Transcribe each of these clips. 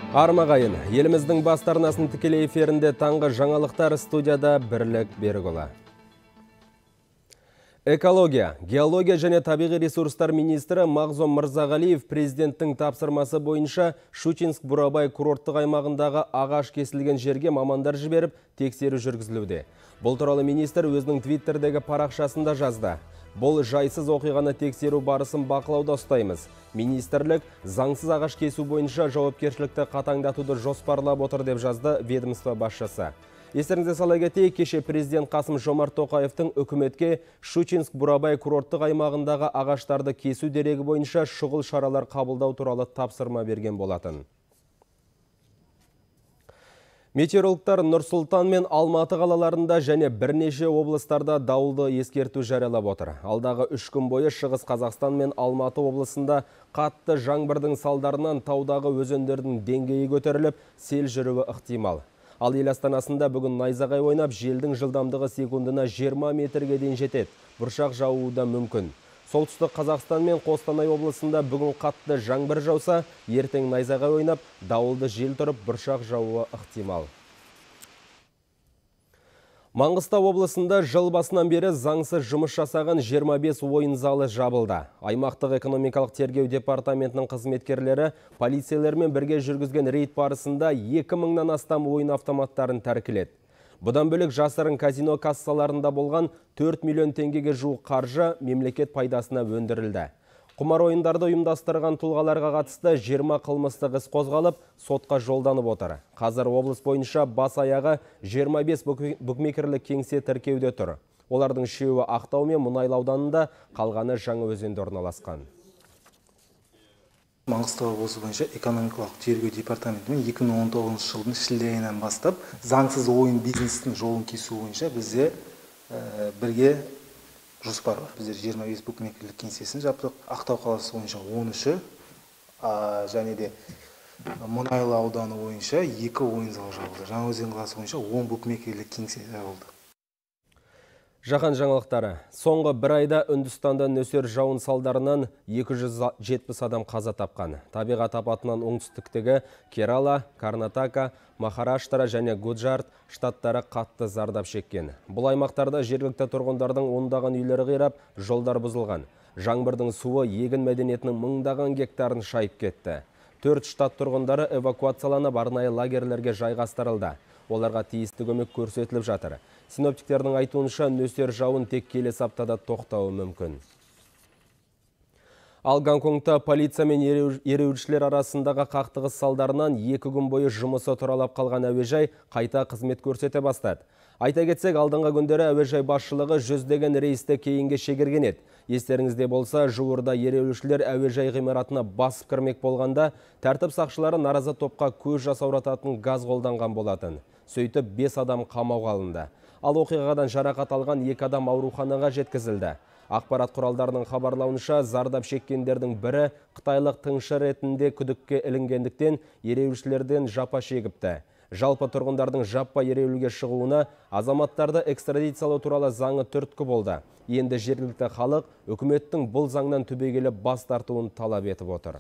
Армағайын, еліміздің бас арнасын тікелей эфирінде таңғы жаңалықтар, студияда Бірлік Берікұлы. Экология, геология және табиғи ресурстар министрі Мағзұм Мырзағалиев президенттің тапсырмасы бойынша Щучинск-Бурабай курорттық аймағындағы ағаш кесілген жерге мамандар жіберіп, тексеру жүргізілуде. Бұл туралы министр өзінің твиттердегі парақшасында жазды. Бұл жайсыз оқиғаны тексеру барысын бақылауда ұстаймыз. Министрлік заңсыз ағаш кесу бойынша жауапкершілікті қатаңдатуды жоспарлап отыр деп жазды ведомство басшысы. Естеріңізге сала кетейік, кеше президент Қасым-Жомарт Тоқаевтың үкіметке Щучинск-Бурабай курорттық аймағындағы ағаштарды кесу дерегі бойынша шұғыл шаралар қабылдау туралы тапсырма берген болатын. Метеорологтар Нұр-Сұлтан мен Алматы қалаларында және бірнеше облыстарда дауылды ескерту жариялап отыр. Алдағы 3 күн бойы Шығыс Қазақстан мен Алматы облысында қатты жаңбырдың салдарынан таудағы өзендердің деңгейі көтеріліп, сел жүруі ықтимал. Ал ел астанасында бүгін найзағай ойнап, желдің жылдамдығы секундына 20 метрге дейін жетеді. Бұршақ жаууы да мүмкін. Солтүстік Қазақстан мен Қостанай облысында бүгін қатты жаңбыр жауса, ертең найзағай ойнап, дауылды жел тұрып, бұршақ жаууы ықтимал. Маңғыстау облысында жыл басынан бері заңсыз жұмыс жасаған 25 ойын залы жабылды. Аймақтық экономикалық тергеу департаментінің қызметкерлері полицейлермен бірге жүргізген рейд барысында 2000-нан астам ойын автоматтарын тәркіледі. Бұдан бөлек жасырын казино кассаларында болған 4 миллион теңгеге жуық қаржы мемлекет пайдасына өндірілді. Құмар ойындарды ұйымдастырған тұлғаларға қатысты 20 қылмыстық іс қозғалып, сотқа жолданып отыр. Қазір облыс бойынша бас аяғы 25 букмекерлік кеңсе тіркеуде тұр. Олардың 3-і Ақтау мен Мұнайлы ауданында, қалғаны Жаңаөзенде орналасқан. Маңғыстау облысы бойынша экономикалық тергеу департаментімен 2019 жылдың шілде айынан бастап заңсыз ойын бизнестің жолын кесу бойынша бізде бірге жоспар бар. Біздер 25 букмекерлік кеңсесін жаптық. Ақтау қаласы бойынша 13-і және де Мұнайлы ауданы бойынша 2 ойын залы жабылды. Жаңаөзен қаласы бойынша 10 букмекерлік кеңсе жабылды. Жаһан жаңалықтары. Соңғы бір айда Үндістанда нөсер жауын салдарынан 270 адам қаза тапқан. Табиғат апатынан оңтүстіктегі Керала, Карнатака, Махараштра және Гуджарат штаттары қатты зардап шеккен. Бұл аймақтарда жергілікті тұрғындардың ондаған үйлері қирап, жолдар бұзылған. Жаңбырдың суы егін мәдениетінің мыңдаған гектарын шайып кетті. 4 штат тұрғындары эвакуацияланып арнайы лагерлерге жайғастырылды. Оларға тиісті көмек көрсетіліп жатыр. Синоптиктердің айтуынша нөсер жауын тек келесі аптада тоқтауы мүмкін. Ал Гонконгта полиция мен ереуілшілер арасындағы қақтығыс салдарынан 2 күн бойы жұмысы тұралап қалған әуежай қайта қызмет көрсете бастады. Айта кетсек, алдыңғы күндері әуежай басшылығы 100-деген рейсті кейінге шегерген еді. Естеріңізде болса, жуырда ереуілшілер әуежай ғимаратына басып кірмек болғанда, тәртіп сақшылары наразы топқа көз жасаурататын газ қолданған болатын. Сөйтіп 5 адам қамауға алынды. Ал оқиғадан жарақат алған 2 адам ауруханаға жеткізілді. Ақпарат құралдарының хабарлауынша, зардап шеккендердің бірі қытайлық тыңшы ретінде күдікке ілінгендіктен ереуілшілерден жапа шегіпті. Жалпы тұрғындардың жаппай ереуілге шығуына азаматтарды экстрадициялау туралы заңы түрткі болды. Енді жергілікті халық үкіметтің бұл заңнан түбегейлі бас тартуын талап етіп отыр.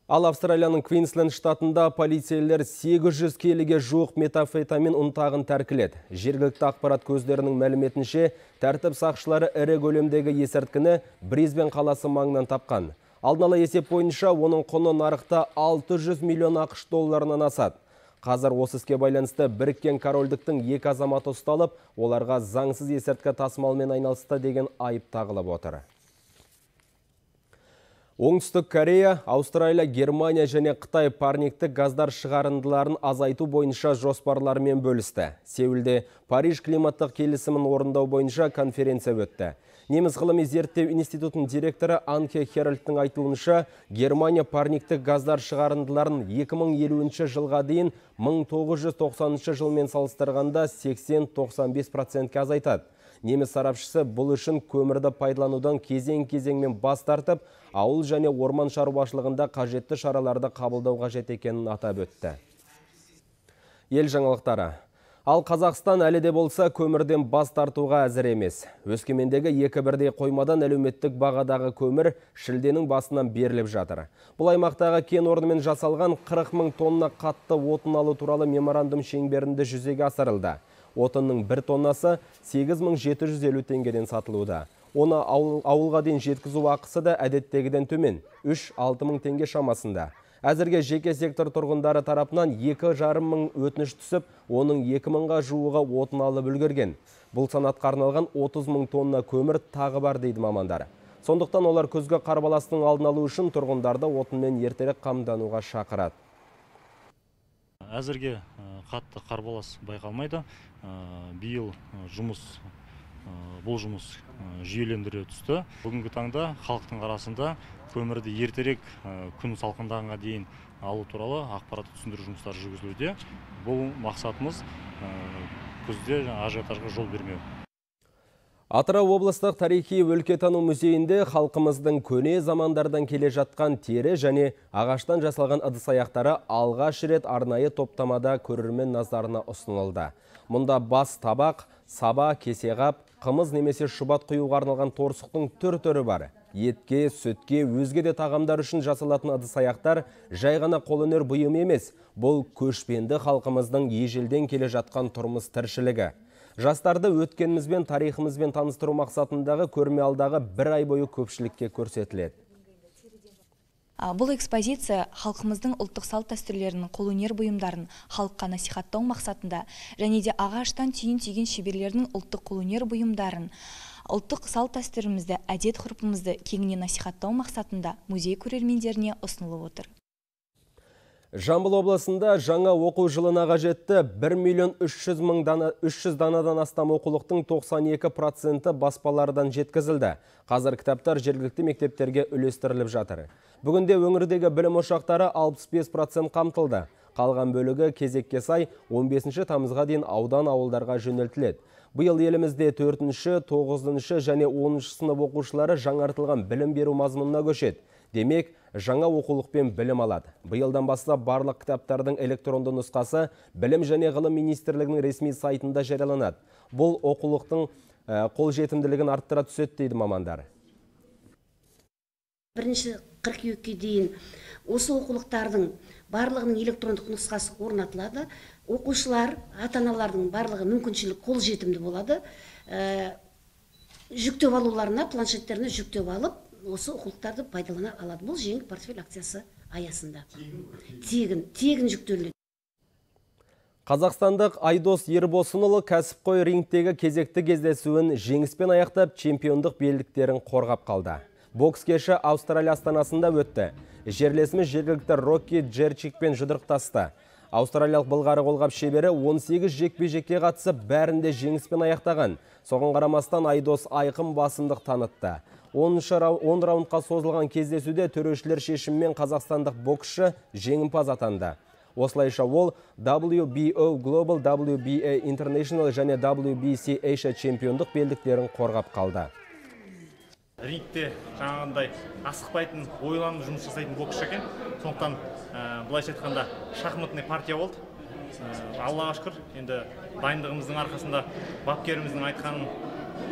Ал Австралияның Квинсленд штатында полицейлер 800 келіге жуық метамфетамин ұнтағын тәркіледі. Жергілікті ақпарат көздерінің мәліметінше, тәртіп сақшылары ірі көлемдегі есірткіні Брисбен қаласы маңынан тапқан. Алдын ала есеп бойынша оның құны нарықта 600 миллион ақш долларынан асады. Қазір осы іске байланысты Біріккен Корольдіктің 2 азаматы ұсталып, оларға заңсыз есірткі тасымалмен айналысты деген айып тағылып отыр. Оңтүстік Корея, Аустралия, Германия және Қытай парниктік газдар шығарындыларын азайту бойынша жоспарларымен бөлісті. Сеулде Париж климаттық келісімін орындау бойынша конференция өтті. Неміс ғылыми зерттеу институтының директоры Анке Херальдтың айтуынша, Германия парниктік газдар шығарындыларын 2050 жылға дейін 1990 жылмен салыстырғанда 80-95%-ке азайтады. Неміс сарапшысы бұл үшін көмірді пайдаланудан кезең-кезеңмен бас тартып, ауыл және орман шаруашылығында қажетті шараларды қабылдау қажет екенін атап өтті. Ел жаңалықтары. Ал Қазақстан әлі де болса көмірден бас тартуға әзір емес. Өскемендегі екі бірдей қоймадан әлеуметтік бағадағы көмір шілденің басынан беріліп жатыр. Бұл аймақтағы кен орнымен жасалған 40 мың тонна қатты отын алу туралы меморандум шеңберінде жүзеге асырылды. Отынның бір тоннасы 8750 теңгеден сатылуда. Оны ауылға дейін жеткізу ақысы да әдеттегіден төмен 3-6 мың теңге шамасында. Әзірге жеке сектор тұрғындары тарапынан 2,5 мың өтініш түсіп, оның 2 мыңға жуығы отын алып үлгерген. Бұл санатқа арналған 30 мың тонна көмір тағы бар дейді мамандар. Сондықтан олар күзгі қарбаластың алдын алу үшін тұрғындарды отынмен ертерек қамдануға шақырады. Әзірге қатты қарбалас байқалмайды. Биыл бұл жұмыс жүйелендіре түсті. Бүгінгі таңда халықтың арасында көмірді ертерек күн салқындағанға дейін алу туралы ақпаратты түсіндіру жұмыстары жүргізілуде. Бұл мақсатымыз күзде ажиотажға жол бермеу. Атырау облыстық тарихи өлкетану музейінде халқымыздың көне замандардан келе жатқан тері және ағаштан жасалған ыдыс-аяқтары алғаш рет арнайы топтамада көрермен назарына ұсынылды. Мұнда бас табақ, саба, кесеғап, қымыз немесе шұбат құюға арналған торсықтың түр-түрі бар. Етке, сүтке, өзге де тағамдар үшін жасалатын ыдыс-аяқтар жай ғана қолөнер бұйым емес, бұл көшпенді халқымыздың ежелден келе жатқан тұрмыс тіршілігі. Жастарды өткенімізбен, тарихымызбен таныстыру мақсатындағы көрме алдағы бір ай бойы көпшілікке көрсетіледі. Бұл экспозиция халқымыздың ұлттық салт дәстүрлерінің қолөнер бұйымдарын халыққа насихаттау мақсатында және де ағаштан түйін түйген шеберлердің ұлттық қолөнер бұйымдарын, ұлттық салт дәстүрімізді, әдет-ғұрпымызды кеңінен насихаттау мақсатында музей көрермендеріне ұсынылып отыр. Жамбыл облысында жаңа оқу жылына қажетті 1,3 данадан астам оқулықтың 92% баспалардан жеткізілді. Қазір кітаптар жергілікті мектептерге үлестіріліп жатыр. Бүгінде өңірдегі білім ошақтары 65% қамтылды. Қалған бөлігі кезекке сай 15 тамызға дейін аудан ауылдарға жөнелтіледі. Биыл елімізде 4-ші, 9-шы және 10-шы сынып оқушылары жаңартылған білім беру мазмұнына көшеді. Демек, жаңа оқулықпен білім алады. Биылдан бастап барлық кітаптардың электронды нұсқасы Білім және ғылым министрлігінің ресми сайтында жарияланады. Бұл оқулықтың қолжетімділігін арттыра түседі дейді мамандар. 1 қыркүйекке дейін осы оқулықтардың барлығының электрондық нұсқасы орнатылады. Оқушылар, ата-аналардың барлығы мүмкіншілік қолжетімді болады. Жүктеп алуларына, планшеттеріне жүктеп алып, осы оқулықтарды пайдалана алады. Бұл жеңіл портфель акциясы аясында. Тегін жүктеледі. Қазақстандық Айдос Ербосынұлы кәсіпқой рингтегі кезекті кездесуін жеңіспен аяқтап чемпиондық белдіктерін қорғап қалды. Бокс кеші Аустралия астанасында өтті. Жерлесіміз жергілікті Рокки Джерчикпен жұдырықтасты. Аустралиялық былғары қолғап шебері 18 жекпе-жекке қатысып, бәрінде жеңіспен аяқтаған. Соған қарамастан Айдос айқын басымдық танытты. 10 раундқа созылған кездесуде төрешілер шешіммен қазақстандық боксшы жеңімпаз атанды. Осылайша ол WBO Global, WBA International және WBC Asia чемпиондық белдіктерін қорғап қалды. Рингте жаңағындай асықпайтын, ойланып жұмыс жасайтын боксшы екен. Сондықтан былайша айтқанда шахматный партия болды. Аллаға шүкір, енді дайындығымыздың арқасында, бапкеріміздің айтқанын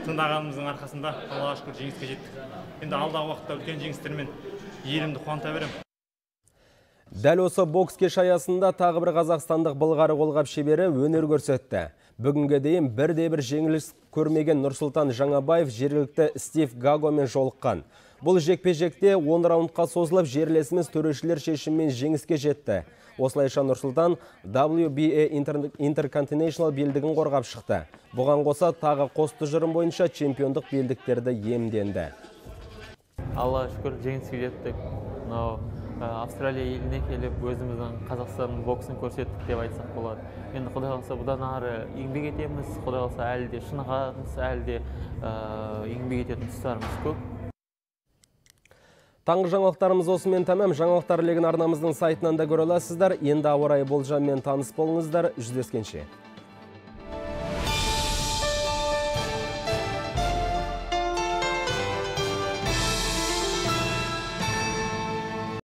тыңдағанымыздың арқасында Аллаға шүкір жеңіске жеттік. Енді алдағы уақытта үлкен жеңістермен елімді қуанта беремін. Дәл осы бокс кеш аясында тағы бір қазақстандық былғары қолғап шебері өнер көрсетті. Бүгінге дейін бірде-бір жеңіліс көрмеген Нұрсұлтан Жаңабаев жергілікті Стив Гагомен жолыққан. Бұл жекпе-жекте 10 раундқа созылып, жерлесіміз төрешілер шешіммен жеңіске жетті. Осылайша Нұрсұлтан WBA Intercontinental белдігін қорғап шықты. Бұған қоса тағы қос тұжырым бойынша чемпиондық белдіктерді иемденді. Аллаға шүкір жеңіске жеттік. Австралия еліне келіп, өзіміздің Қазақстанның боксын көрсеттік деп айтсақ болады. Енді Құдай қаласа бұдан ары еңбек етеміз, Құдай қаласа әлі де шынығамыз, әлі де еңбек ететін тұстарымыз көп. Таңғы жаңалықтарымыз осымен тәмам. Жаңалықтар легін арнамыздың сайтынан да көре аласыздар. Енді ауа райы болжаммен таныс болыңыздар. Жүздескенше.